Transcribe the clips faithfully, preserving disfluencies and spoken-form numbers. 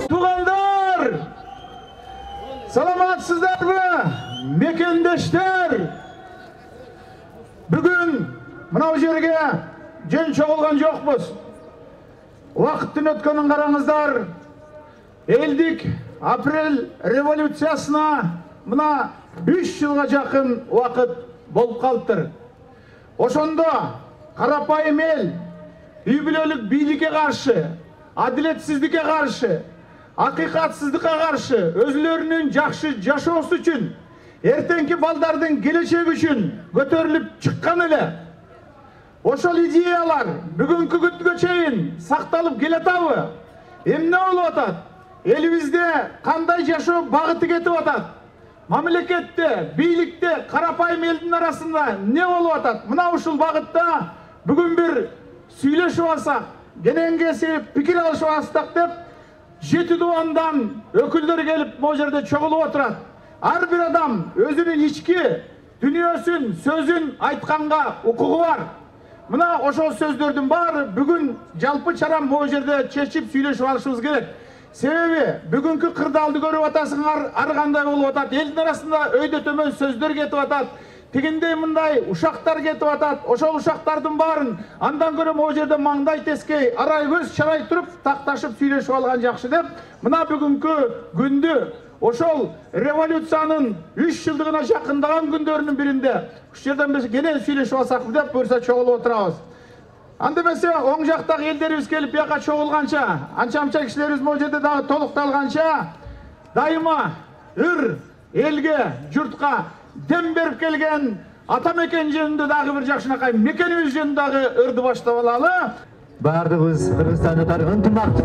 Туғандар, саламатсыздарбы, мекендештер? Бүгін мынау жерге жөн чогулган жокпуз. Уақыттын өткөнүн караңыздар. Элдик апрель революциясына мына үч жылга жакын уақыт болуп калыптыр. Ошондо карапайым эл үй бүлөлүк бийликке каршы, адилетсиздикке каршы, акыйкатсыздыкка каршы, өзүлөрүнүн жакшы жашоосу үчүн, эртеңки балдардын келечеги үчүн көтөрүлүп чыккан эле. Ошол идеялар бүгүнкү күнгө чейин сакталып келатабы? Эмне болуп атат? Элибизде кандай жашоо багыты кетип атат? Мамлекетте, бийликте, карапайым элдин арасында не болуп атат? Мына ушул багытта бүгүн бир сүйлөшүп алсак, кененге пикир алышып алсак деп, жети дубандан өкүлдөр келип могу жерде чогулуп отурат. Ар бир адам өзүнүн ички дүнүйөсүн, сөзүн айтканга укугу бар. Мына ошол сөздөрдүн баары бүгүн жалпы чарам могу жерде чечип сүйлөшүп алышыбыз керек. Себеби бүгүнкү кырдаалды көрүп атасыңар, ар кандай болуп атат. Элдин арасында өйдө төмөн сөздөр кетип атат. Тигиндей мындай ушактар кетип атат. Ошол ушактардын баарын андан көрө могу жерде маңдай тескей, арай көз чарай туруп, такташып сүйлөшүп алган жакшы деп, мына бүгүнкү күндү ошол революциянын үч жылдыгына жакындаган күндөрүнүн биринде ушул жерден биз кенен сүйлөшүп алсак деп буюрса чогулуп отурабыз. Анда эмесе оң жактагы элдерибиз келип бияка чогулганча, анча-мынча кишилерибиз могу жерде дагы толукталганча, дайыма ыр элге, журтка дем берип келген ата мекен жөнүндө дагы бир жакшынакай мекенибиз жөнүндө дагы ырды баштап алалы. Бардыгыбыз кыргызстандыктар ынтымак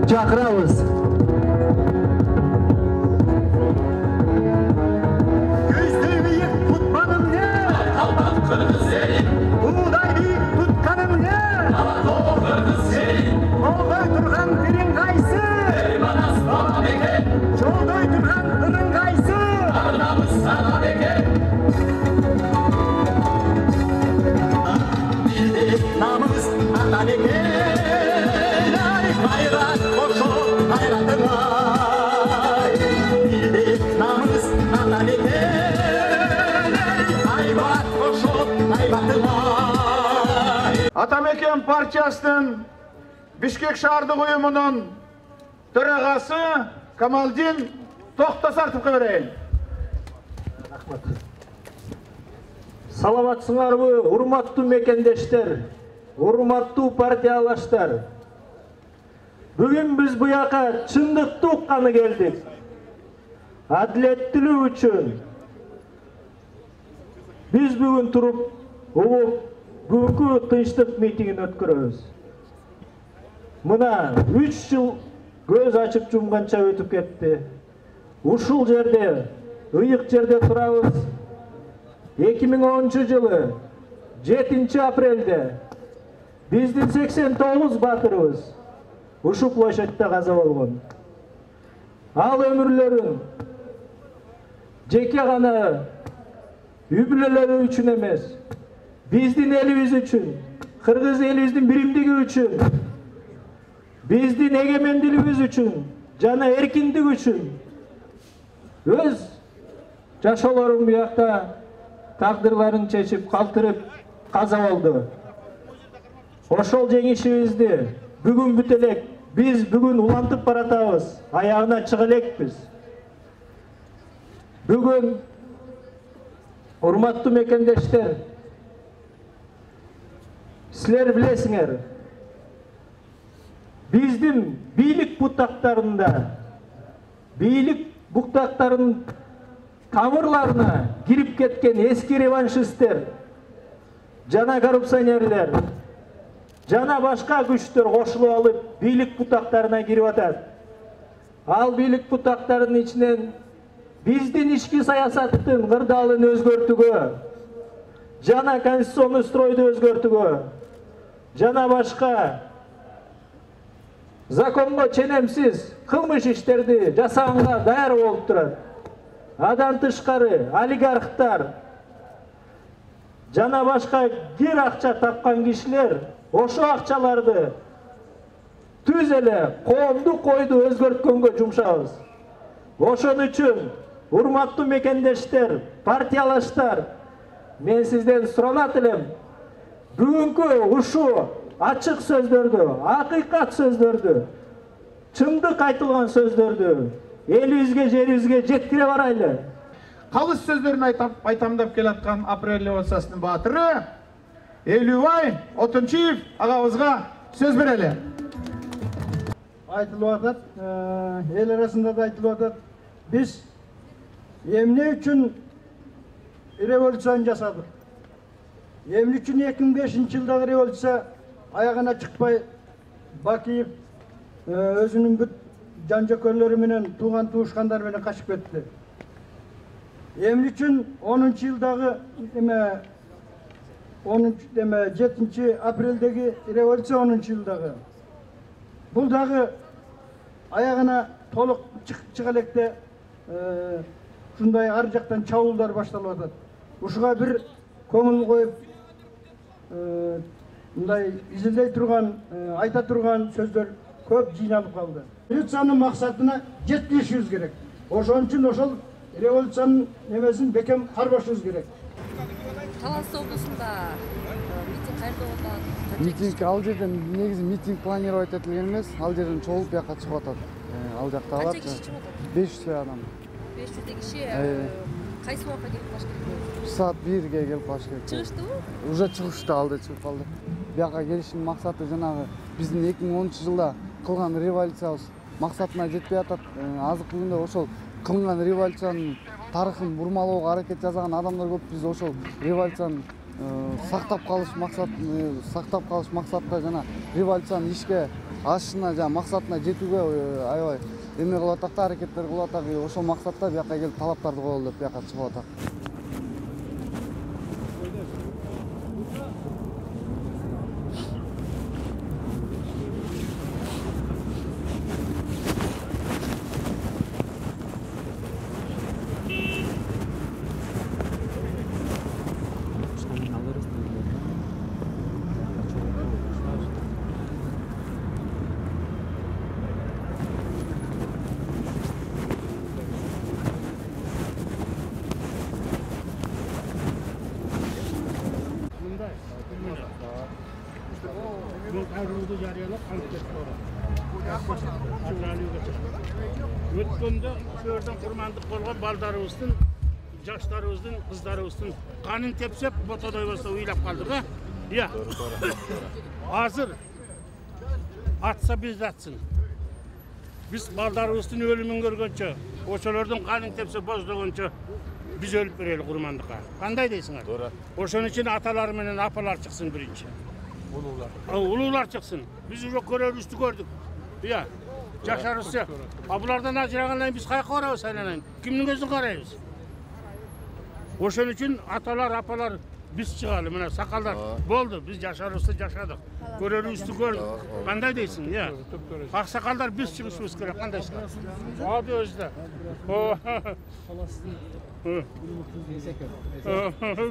чакырабыз. Көздөй бийик тутканым не? Калпак кыргыз элин. Уудай бийик тутканым не? Алатоо кыргыз элин. Колдой турган бириң кайсы? Эйманас бала бекен. Жолдой турган ының кайсы? Арнамыз сага бекен. Бизде намыс ата бекен. Ай кайрат кошо кайратыңай. Бизде намыс ата бекен. Айбат кошо айбатыңай. Атамекен партиясынын Бишкек шаардык уюмунун төрагасы Камалдин Токтосартовго берейин. Рахмат. Саламатсыңарбы, урматтуу мекендештер, урматтуу партиялаштар. Бүгүн биз буяка чындыкты укканы келдик. Адилеттүүлүк үчүн биз бүгүн туруп, угуп, бүгүнкү тынчтык митингин өткөрөбүз. Мына үч жыл көз ачып жумганча өтүп кетти. Ушул жерде, ыйык жерде турабыз. эки миң онунчу жылы жетинчи апрелде биздин сексен тогуз баатырыбыз ушул площадьта каза болгон. Ал өмүрлөрүн жеке гана үй бүлөлөрү үчүн эмес, биздин элибиз үчүн, кыргыз элибиздин биримдиги үчүн, биздин эгемендүүлүгүбүз үчүн жана эркиндик үчүн өз жашоолорун буякта тагдырларын чечип, калтырып каза болду. Ошол жеңишибизди бүгүн бүт элек, биз бүгүн улантып баратабыз, аягына чыга элекпиз. Бүгүн урматтуу мекендештер, силер билесиңер, биздин бийлик бутактарында бийлик буктактарынын тамырларына кирип кеткен эски реваншисттер жана коррупционерлер жана башка күчтөр кошулуп алып бийлик бутактарына кирип атат. Ал бийлик бутактарынын ичинен биздин ички саясаттын кырдаалын өзгөртүүгө жана конституционный стройду өзгөртүүгө жана башка законго ченемсиз кылмыш иштерди жасаганга даяр болуп турат. Адан тышкары олигархтар жана башка кир акча тапкан кишилер ошо акчаларды түз эле коомдук ойду өзгөрткөнгө жумшабыз. Ошон үчүн урматтуу мекендештер, партиялаштар, мен сизден суранат элем, бүгүнкү ушу ачык сөздөрдү, акыйкат сөздөрдү, чындык айтылган сөздөрдү элибизге, жерибизге жеткире барайлы. Калыс сөздөрүн айтам деп келаткан апрель революциясынын баатыры Элүүбай Отунчиев агабызга сөз берели. Айтылып атат, эл арасында да айтылып атат. Биз эмне үчүн революцияны жасадык? Эмне үчүн эки миң бешинчи жылдагы революция аягына чыкпай Бакиев өзүнүн бүт жан жөкөрлөрү менен, тууган туушкандары менен качып кетти? Эмне үчүн онунчу жылдагы эме жетинчи апрелдеги революция онунчу жылдагы бул дагы аягына толук чыга электе ушундай ар жактан чабуулдар башталып атат. Ушуга бир көңүл коюп мындай изилдей турган, айта турган сөздөр көп жыйналып калды. Революциянын максатына жеткиришибиз керек. Ошон үчүн ошол революциянын немесин бекем карбашыбыз керек. Талас облусунда митинг кайерде болуп атат? Митинг ал жерден негизи митинг планировать этилген эмес, ал жерден чогулуп бияка чыгып атат. Ал жакта алат. Канча киши чыгып атат? беш жүздөй адам. беш жүздөй киши кайсы убакытта келип калыш керек? Саат бирге келип калыш керек. Чыгыштыбы? Уже чыгышты, алда чыгып калды. Бияка келиштин максаты жанагы биздин эки миң онунчу жылда кылган революциябыз максатына жетпей атат. Азыркы күндө ошол кылган революциянын тарыхын бурмалоого аракет жасаган адамдар көп. Биз ошол революцияны сактап калыш максат сактап калыш максатта жана революциянын ишке ашышына жана максатына жетүүгө аябай эме кылып атат, аракеттер кылып атат. Ошол максатта бияка келип талаптарды коелу деп бияка чыгып атат. Өткөндө сөөрдөн курмандык болгон балдарыбыздын, жаштарыбыздын, кыздарыбыздын канын тепсеп, ботодой болсо уйлап калдык, а? Ия. Азыр атса биз атсын. Биз балдарыбыздын өлүмүн көргөнчө, ошолордун канын тепсе боздогончо биз өлүп берели курмандыкка. Кандай дейсиңер? Туура. Ошон үчүн аталар менен апалар чыксын биринчи. Улуулар. Улуулар чыксын. Биз уже көрөрүбүздү көрдүк. Ия. Жашарыбызчы. А булардан ажырагандан биз каяка барабыз айланайын? Кимдин көзүн карайбыз? Ошон үчүн аталар, апалар биз чыгалы, мына сакалдар. Болду, биз жашарыбызды жашадык. Көрөрүбүздү көрдүк. Кандай дейсиң, ия? Аксакалдар биз чыгышыбыз керек, кандайсың? Ады өзүдө.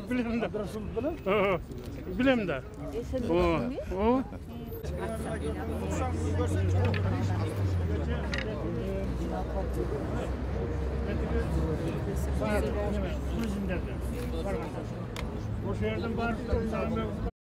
Билем да. Билем да. Ошол жерден барып